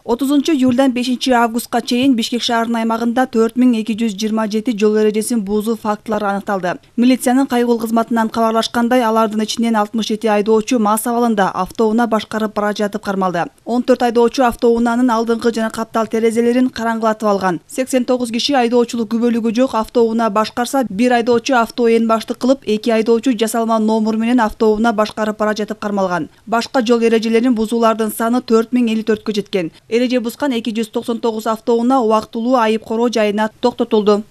30-июлдан 5-августка чейин Бишкек шаарынын аймагында 4227 жол эрежесин буузуу фактылары аныкталды. Милициянын кайгыл кызматынан кабарлашкандай, алардын ичинен 67 айдоочу мас абалында автоунаа башкарып бара жатып кармалды. 14 айдоочу автоунаанын алдыңкы жана каптал терезелерин караңгылатып алган. 89 киши айдоочулук күбөлүгү жок автоунаа башкарса, 1 айдоочу авто эн баштык кылып, 2 айдоочу жасалма номер менен автоунаа башкарып бара жатып кармалган. Башка жол эрежелерин бузуулардын саны 4054кө жеткен. Эреже бузган 299 автоунаа убактылуу айып короо жайына токтотулду.